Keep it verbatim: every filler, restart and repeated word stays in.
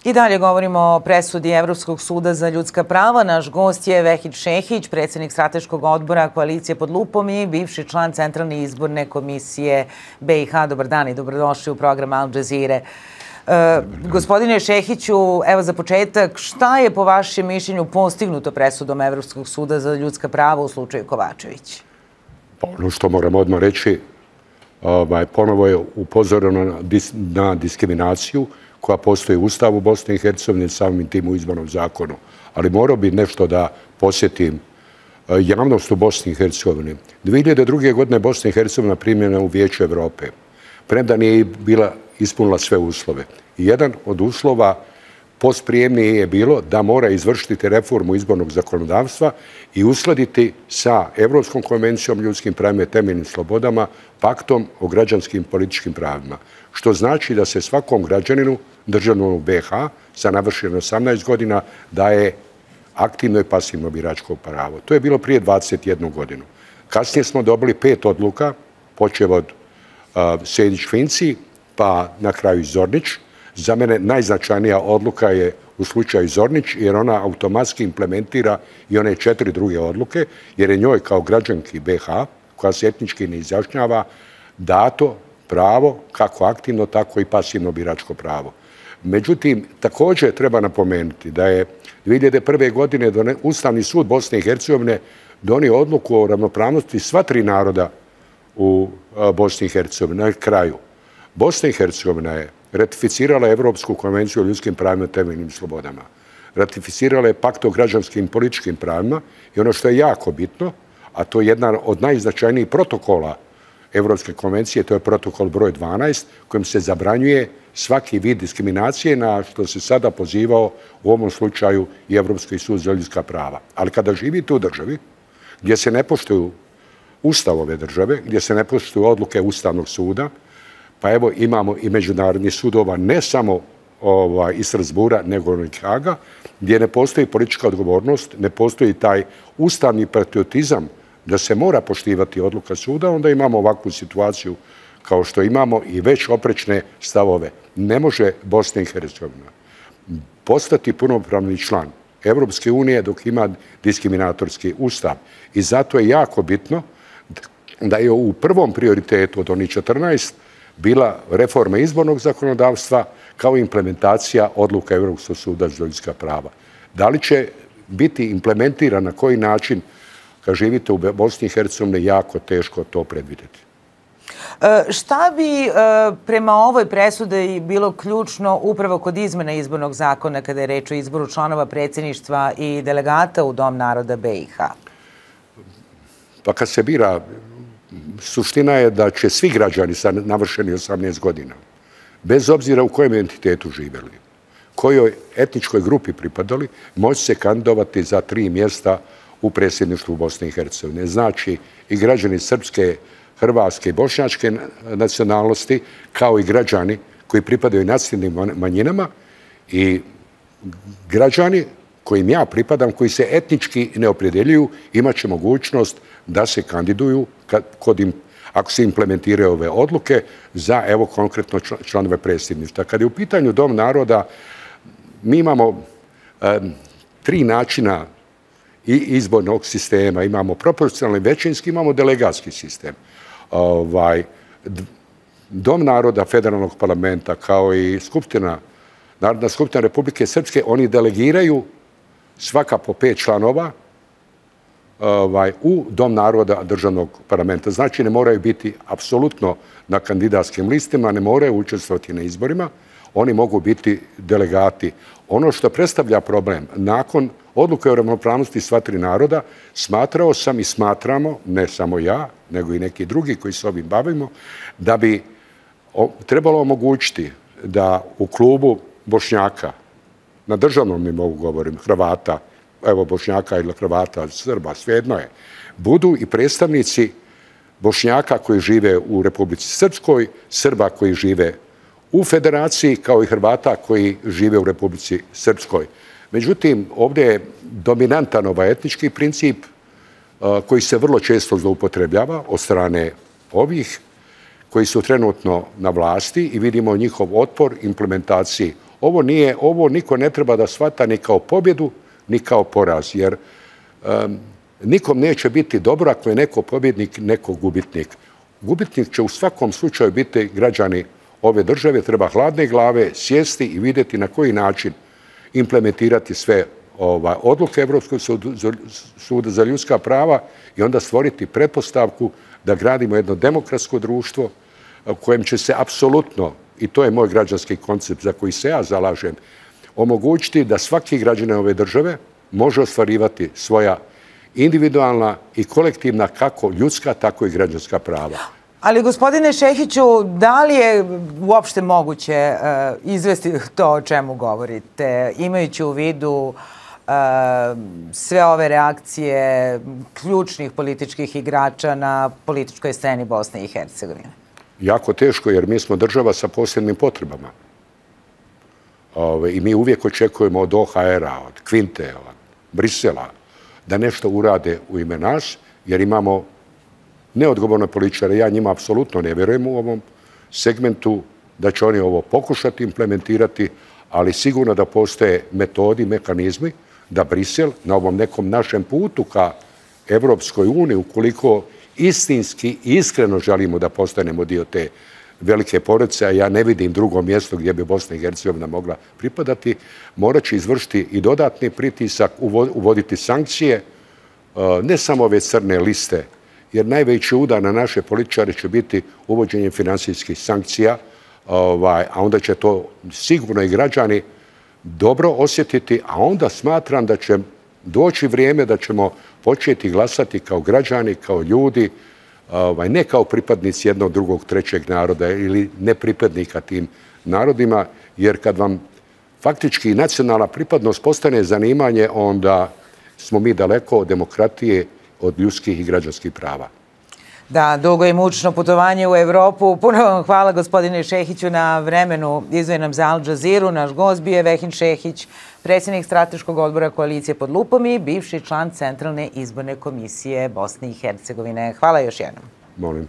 I dalje govorimo o presudi Evropskog suda za ljudska prava. Naš gost je Vehid Šehić, predsjednik strateškog odbora Koalicije pod lupom i bivši član Centralne izborne komisije B i H. Dobar dan i dobrodošli u program Al Jazeere. Gospodine Šehiću, evo za početak, šta je po vašem mišljenju postignuto presudom Evropskog suda za ljudska prava u slučaju Kovačević? Ono što moram odmah reći, ponovo je upozoreno na diskriminaciju koja postoji u Ustavu Bosne i Hercegovine, samim tim u izbornom zakonu. Ali morao bi nešto da posjetim javnost u Bosni i Hercegovini. dvije hiljade druge. godine Bosna i Hercegovina primljena u Vijeću Evrope, premda nije bila ispunila sve uslove. Jedan od uslova postprijemnije je bilo da mora izvršiti reformu izbornog zakonodavstva i uskladiti sa Evropskom konvencijom o ljudskim pravima i temeljnim slobodama, paktom o građanskim i političkim pravima. Što znači da se svakom građaninu, državljanu B i H, sa navršenom osamnaest godina, daje aktivno i pasivno biračko pravo. To je bilo prije dvadeset jednu godinu. Kasnije smo dobili pet odluka, počev od Sejdić-Finci, pa na kraju Zornić. Za mene najznačajnija odluka je u slučaju Zornić, jer ona automatski implementira i one četiri druge odluke, jer je njoj kao građanki B i H, koja se etnički ne izjašnjava, dato pravo, kako aktivno, tako i pasivno biračko pravo. Međutim, također treba napomenuti da je dvije hiljade prve. godine Ustavni sud Bosne i Hercegovine donio odluku o ravnopravnosti sva tri naroda u Bosni i Hercegovini. Na kraju, Bosna i Hercegovina je ratificirala Evropsku konvenciju o ljudskim pravima i temeljnim slobodama. Ratificirala je pakt o građanskim i političkim pravima i ono što je jako bitno, a to je jedna od najznačajnijih protokola Evropske konvencije, to je protokol broj dvanaest, kojim se zabranjuje svaki vid diskriminacije, na što se sada pozivao u ovom slučaju i Evropski sud za ljudska prava. Ali kada živite u državi gdje se ne poštuju ustav ove države, gdje se ne poštuju odluke Ustavnog suda, pa evo imamo i međunarodnih sudova, ne samo iz Strasbura, nego i Haga, gdje ne postoji politička odgovornost, ne postoji taj ustavni patriotizam da se mora poštivati odluka suda, onda imamo ovakvu situaciju kao što imamo i već oprečne stavove. Ne može Bosna i Hercegovina postati punopravni član Evropske unije dok ima diskriminatorski ustav. I zato je jako bitno da je u prvom prioritetu od onih četrnaest bila reforma izbornog zakonodavstva kao implementacija odluka Evropskog suda za ljudska prava. Da li će biti implementirana na koji način kad živite u Bosni i Hercegovini, jako teško to predvidjeti. Šta bi prema ovoj presudi bilo ključno upravo kod izmena izbornog zakona kada je reč o izboru članova predsjedništva i delegata u Dom naroda B i H? Pa kad se bira, suština je da će svi građani sa navršeni osamnaest godina, bez obzira u kojem entitetu živjeli, kojoj etničkoj grupi pripadali, moći se kandidovati za tri mjesta u predsjedništvu Bosne i Hercegovine. Znači i građani srpske, hrvatske i bošnjačke nacionalnosti, kao i građani koji pripadaju nacionalnim manjinama i građani kojim ja pripadam, koji se etnički ne opredjeljuju, imat će mogućnost da se kandiduju, ako se implementiraju ove odluke, za, evo, konkretno članove predsjedništva. Kad je u pitanju Dom naroda, mi imamo tri načina i izbornog sistema. Imamo proporcionalni većinski, imamo delegatski sistem. Dom naroda Federalnog parlamenta, kao i Narodna skupština Republike Srpske, oni delegiraju svaka po pet članova u Dom naroda državnog parlamenta. Znači, ne moraju biti apsolutno na kandidatskim listima, ne moraju učestvovati na izborima, oni mogu biti delegati. Ono što predstavlja problem, nakon odluke o ravnopravnosti sva tri naroda, smatrao sam i smatramo, ne samo ja, nego i neki drugi koji se ovim bavimo, da bi trebalo omogućiti da u klubu Bošnjaka, na državnom nivou govorim, Hrvata, evo Bošnjaka ili Hrvata, Srba, svejedno je, budu i predstavnici Bošnjaka koji žive u Republici Srpskoj, Srba koji žive u Federaciji, kao i Hrvata koji žive u Republici Srpskoj. Međutim, ovdje je dominantan ovaj etnički princip koji se vrlo često zloupotrebljava od strane ovih koji su trenutno na vlasti i vidimo njihov otpor implementaciji ovo nije, ovo niko ne treba da shvata ni kao pobjedu, ni kao poraz, jer um, nikom neće biti dobro ako je neko pobjednik, neko gubitnik. Gubitnik će u svakom slučaju biti građani ove države, treba hladne glave sjesti i vidjeti na koji način implementirati sve ova, odluke Evropskog suda za ljudska prava i onda stvoriti pretpostavku da gradimo jedno demokratsko društvo u kojem će se apsolutno, i to je moj građanski koncept za koji se ja zalažem, omogućiti da svaki građanin ove države može ostvarivati svoja individualna i kolektivna kako ljudska, tako i građanska prava. Ali, gospodine Šehiću, da li je uopšte moguće uh, izvesti to o čemu govorite, imajući u vidu uh, sve ove reakcije ključnih političkih igrača na političkoj sceni Bosne i Hercegovine? Jako teško, jer mi smo država sa posebnim potrebama. Ove, I mi uvijek očekujemo od O H R-a, od Kvinte, od Brisela, da nešto urade u ime nas, jer imamo neodgovorne političare. Ja njima apsolutno ne vjerujem u ovom segmentu da će oni ovo pokušati implementirati, ali sigurno da postoje metodi, mehanizmi da Brisel na ovom nekom našem putu ka Evropskoj uniji, ukoliko istinski i iskreno želimo da postanemo dio te velike porodice, a ja ne vidim drugo mjesto gdje bi Bosna i Hercegovina mogla pripadati, morat će izvršiti i dodatni pritisak, uvoditi sankcije, ne samo ove crne liste, jer najveći udar na naše političare će biti uvođenje finansijskih sankcija, a onda će to sigurno i građani dobro osjetiti, a onda smatram da će doći vrijeme da ćemo početi glasati kao građani, kao ljudi, ne kao pripadnici jednog, drugog, trećeg naroda ili nepripadnika tim narodima, jer kad vam faktički nacionalna pripadnost postane zanimanje, onda smo mi daleko od demokratije, od ljudskih i građanskih prava. Da, dugo i mučno putovanje u Evropu. Puno vam hvala, gospodine Šehiću, na vremenu izdvojenom za Al Jazeera. Naš gost bio je Vehin Šehić, predsjednik Strateškog odbora Koalicije pod lupom i bivši član Centralne izborne komisije Bosne i Hercegovine. Hvala još jednom. Molim.